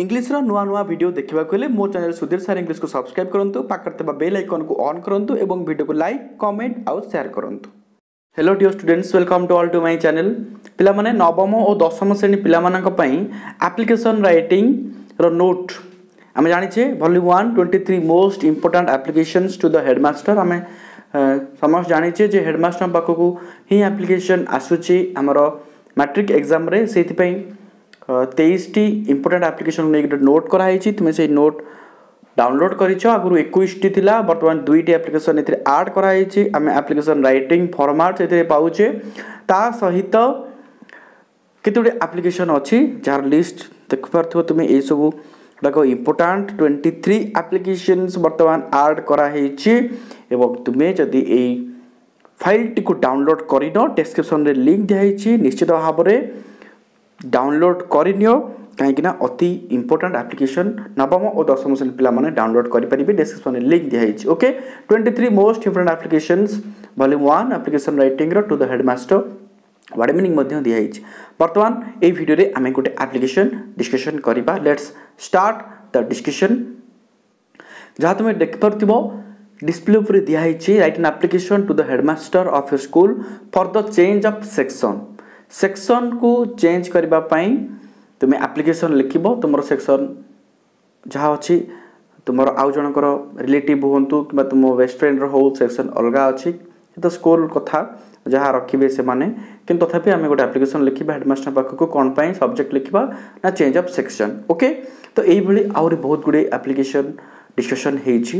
ଇଂଲିଶର ନୂଆ ନୂଆ ଭିଡ଼ିଓ ଦେଖିବାକୁ ହେଲେ ମୋ ଚ୍ୟାନେଲ୍ ସୁଧୀର ସାର୍ ଇଂଲିଶକୁ ସବସ୍କ୍ରାଇବ୍ କରନ୍ତୁ, ପାଖରେ ଥିବା ବେଲ୍ ଆଇକନ୍କୁ ଅନ୍ କରନ୍ତୁ ଏବଂ ଭିଡ଼ିଓକୁ ଲାଇକ୍, କମେଣ୍ଟ ଆଉ ସେୟାର କରନ୍ତୁ। Hello dear students, welcome to all to my channel. ପିଲାମାନେ, ନବମ ଓ ଦଶମ ଶ୍ରେଣୀ ପିଲାମାନଙ୍କ ପାଇଁ ଆପ୍ଲିକେସନ୍ ରାଇଟିଂର ନୋଟ୍। ଆମେ ଜାଣିଛେ volume 1, 23 most important applications to the headmaster. ଆମେ ସମସ୍ତେ ଜାଣିଛେ ଯେ ହେଡ଼ମାଷ୍ଟରଙ୍କ ପାଖକୁ ହିଁ ଆପ୍ଲିକେସନ୍ ଆସୁଛି ଆମର ମାଟ୍ରିକ୍ ଏକ୍ଜାମ୍ରେ। ସେଇଥିପାଇଁ 23ଟି ଇମ୍ପୋର୍ଟାଣ୍ଟ ଆପ୍ଲିକେସନ୍ ନେଇକି ଗୋଟେ ନୋଟ୍ କରାହେଇଛି। ତୁମେ ସେଇ ନୋଟ୍ ଡାଉନଲୋଡ଼୍ କରିଛ। ଆଗରୁ 21ଟି ଥିଲା, ବର୍ତ୍ତମାନ 2ଟି ଆପ୍ଲିକେସନ୍ ଏଥିରେ ଆଡ଼୍ କରାହେଇଛି। ଆମେ ଆପ୍ଲିକେସନ୍ ରାଇଟିଂ ଫର୍ମାଟ୍ ସେଥିରେ ପାଉଛେ। ତା ସହିତ କେତେ ଗୁଡ଼ିଏ ଆପ୍ଲିକେସନ୍ ଅଛି ଯାହାର ଲିଷ୍ଟ ଦେଖିପାରୁଥିବ ତୁମେ। ଏଇସବୁ ଗୁଡ଼ାକ ଇମ୍ପୋର୍ଟାଣ୍ଟ 23 ଆପ୍ଲିକେସନ୍ସ ବର୍ତ୍ତମାନ ଆଡ଼୍ କରାହେଇଛି। ଏବଂ ତୁମେ ଯଦି ଏଇ ଫାଇଲ୍ଟିକୁ ଡାଉନଲୋଡ଼୍ କରିନ, ଡେସ୍କ୍ରିପ୍ସନ୍ରେ ଲିଙ୍କ୍ ଦିଆହେଇଛି, ନିଶ୍ଚିତ ଭାବରେ ଡାଉନଲୋଡ଼୍ କରିନିଅ, କାହିଁକିନା ଅତି ଇମ୍ପୋର୍ଟାଣ୍ଟ ଆପ୍ଲିକେସନ୍ ନବମ ଓ ଦଶମ ଶ୍ରେଣୀ ପିଲାମାନେ ଡାଉନଲୋଡ଼୍ କରିପାରିବେ। ଡେସ୍କ୍ରିପ୍ସନ୍ରେ ଲିଙ୍କ୍ ଦିଆହେଇଛି। Okay, 23 most important applications, volume 1, application ରାଇଟିଂର to the headmaster, word meaning ମଧ୍ୟ ଦିଆହେଇଛି। ବର୍ତ୍ତମାନ ଏଇ ଭିଡ଼ିଓରେ ଆମେ ଗୋଟେ ଆପ୍ଲିକେସନ୍ ଡିସ୍କସନ୍ କରିବା। Let's start the discussion. ଯାହା ତୁମେ ଦେଖିପାରୁଥିବ, ଡିସପ୍ଲେ ଉପରେ ଦିଆହେଇଛି, write an application to the headmaster of a school for the change of section. ସେକ୍ସନ୍କୁ change କରିବା ପାଇଁ ତୁମେ ଆପ୍ଲିକେସନ୍ ଲେଖିବ। ତୁମର ସେକ୍ସନ୍ ଯାହା ଅଛି, ତୁମର ଆଉ ଜଣଙ୍କର ରିଲେଟିଭ୍ ହୁଅନ୍ତୁ କିମ୍ବା ତୁମ ବେଷ୍ଟ ଫ୍ରେଣ୍ଡର ହଉ, ସେକ୍ସନ୍ ଅଲଗା ଅଛି। ତ ସ୍କୁଲ କଥା, ଯାହା ରଖିବେ ସେମାନେ। କିନ୍ତୁ ତଥାପି ଆମେ ଗୋଟେ ଆପ୍ଲିକେସନ୍ ଲେଖିବା ହେଡ଼ମାଷ୍ଟର ପାଖକୁ। କ'ଣ ପାଇଁ? ସବଜେକ୍ଟ ଲେଖିବା ନା ଚେଞ୍ଜ ଅଫ୍ ସେକ୍ସନ୍। ଓକେ, ତ ଏଇଭଳି ଆହୁରି ବହୁତ ଗୁଡ଼ିଏ ଆପ୍ଲିକେସନ୍ ଡିସ୍କସନ୍ ହେଇଛି।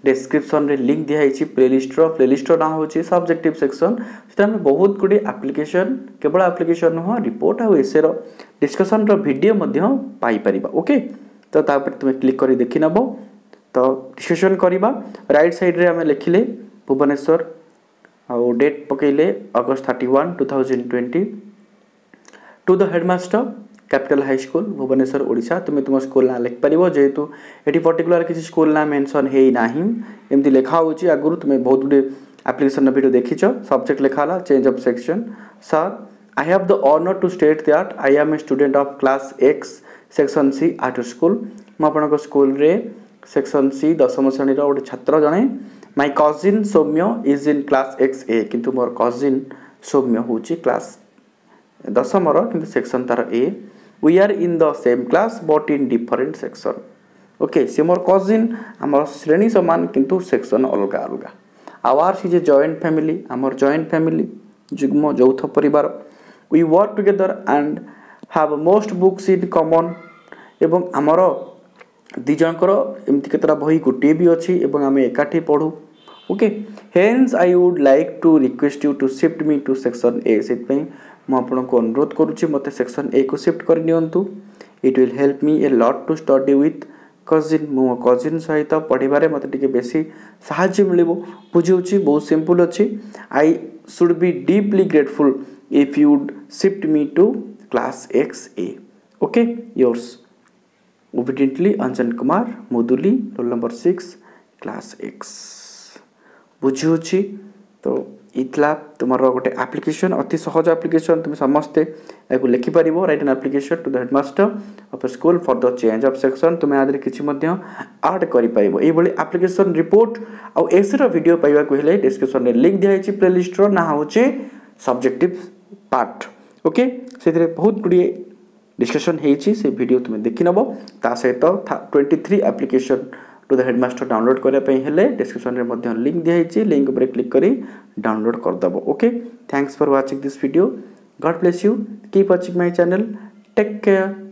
ଡେସ୍କ୍ରିପ୍ସନ୍ରେ ଲିଙ୍କ୍ ଦିଆହେଇଛି ପ୍ଲେଲିଷ୍ଟର। ପ୍ଲେଲିଷ୍ଟର ନାଁ ହେଉଛି ସବଜେକ୍ଟିଭ୍ ସେକ୍ସନ୍। ସେଥିରେ ଆମେ ବହୁତ ଗୁଡ଼ିଏ ଆପ୍ଲିକେସନ୍, କେବଳ ଆପ୍ଲିକେସନ୍ ନୁହଁ, ରିପୋର୍ଟ ଆଉ ଏସେର ଡିସ୍କସନ୍ର ଭିଡ଼ିଓ ମଧ୍ୟ ପାଇପାରିବା। ଓକେ, ତ ତା ଉପରେ ତୁମେ କ୍ଲିକ୍ କରି ଦେଖିନେବ। ତ ଡିସ୍କସନ୍ କରିବା। ରାଇଟ୍ ସାଇଡ଼୍ରେ ଆମେ ଲେଖିଲେ ଭୁବନେଶ୍ୱର ଆଉ ଡେଟ୍ ପକାଇଲେ August 31, 2020, to the headmaster, Capital High School, Bhubaneswar, Odisha. ତୁମେ ତୁମ ସ୍କୁଲ ନାଁ ଲେଖିପାରିବ, ଯେହେତୁ ଏଠି ପର୍ଟିକୁଲାର କିଛି ସ୍କୁଲ ନାଁ ମେନସନ୍ ହେଇନାହିଁ। ଏମିତି ଲେଖା ହେଉଛି। ଆଗରୁ ତୁମେ ବହୁତ ଗୁଡ଼ିଏ ଆପ୍ଲିକେସନ୍ର ଭିଡ଼ିଓ ଦେଖିଛ। ସବଜେକ୍ଟ ଲେଖା ହେଲା change of section. Sir, I have the honour to state that I am a student of class X, section C at school. ମୁଁ ଆପଣଙ୍କ ସ୍କୁଲରେ ସେକ୍ସନ୍ ସି ଦଶମ ଶ୍ରେଣୀର ଗୋଟେ ଛାତ୍ର ଜଣେ। My cousin Soumya is in class X A. କିନ୍ତୁ ମୋର କଜିନ୍ ସୌମ୍ୟ ହେଉଛି କ୍ଲାସ୍ ଦଶମର, କିନ୍ତୁ ସେକ୍ସନ୍ ତାର ଏ। We are in the same class but in different section. Okay, ସେ ମୋର କଜିନ୍, ଆମର ଶ୍ରେଣୀ ସମାନ କିନ୍ତୁ ସେକ୍ସନ୍ ଅଲଗା ଅଲଗା। Ours is a joint family. ଆମର ଜଏଣ୍ଟ ଫ୍ୟାମିଲି, ଯୁଗ୍ମ ଯୌଥ ପରିବାର। We work together and have most books in common. ଏବଂ ଆମର ଦୁଇ ଜଣଙ୍କର ଏମିତି କେତେଟା ବହି ଗୋଟିଏ ବି ଅଛି ଏବଂ ଆମେ ଏକାଠି ପଢ଼ୁ। Okay, hence I would like to request you to shift me to section A. ସେଥିପାଇଁ ମୁଁ ଆପଣଙ୍କୁ ଅନୁରୋଧ କରୁଛି, ମୋତେ ସେକ୍ସନ୍ ଏ କୁ ସିଫ୍ଟ କରିନିଅନ୍ତୁ। It will help me a lot to study with cousin. ମୁଁ ମୋ କଜିନ୍ ସହିତ ପଢ଼ିବାରେ ମୋତେ ଟିକେ ବେଶୀ ସାହାଯ୍ୟ ମିଳିବ। ବୁଝିହେଉଛି? ବହୁତ ସିମ୍ପଲ୍ ଅଛି। I should be deeply grateful if you would shift me to class X A. Okay, yours obediently, Anjan Kumar Muduli, roll number 6, class X. ବୁଝିହେଉଛି? ତ ଏଇ ଥିଲା ତୁମର ଗୋଟେ ଆପ୍ଲିକେସନ୍, ଅତି ସହଜ ଆପ୍ଲିକେସନ୍। ତୁମେ ସମସ୍ତେ ଏହାକୁ ଲେଖିପାରିବ। Write an application to the headmaster of a school for the change of section. ତୁମେ ଆ ଦେହରେ କିଛି ମଧ୍ୟ ଆଡ଼୍ କରିପାରିବ। ଏଇଭଳି ଆପ୍ଲିକେସନ୍, ରିପୋର୍ଟ ଆଉ ଏସେର ଭିଡ଼ିଓ ପାଇବାକୁ ହେଲେ ଡିସ୍କ୍ରିପ୍ସନ୍ରେ ଲିଙ୍କ୍ ଦିଆହେଇଛି। ପ୍ଲେଲିଷ୍ଟର ନାଁ ହେଉଛି ସବଜେକ୍ଟିଭ୍ ପାର୍ଟ। ଓକେ, ସେଥିରେ ବହୁତ ଗୁଡ଼ିଏ ଡିସ୍କସନ୍ ହେଇଛି, ସେ ଭିଡ଼ିଓ ତୁମେ ଦେଖିନେବ। ତା ସହିତ 23 application to the headmaster download କରିବା ପାଇଁ ହେଲେ ଡିସ୍କ୍ରିପ୍ସନ୍ରେ ମଧ୍ୟ ଲିଙ୍କ୍ ଦିଆହେଇଛି। ଲିଙ୍କ୍ ଉପରେ କ୍ଲିକ୍ କରି ଡାଉନଲୋଡ଼ କରିଦେବ। Okay, thanks for watching this video. God bless you. Keep watching my channel. Take care.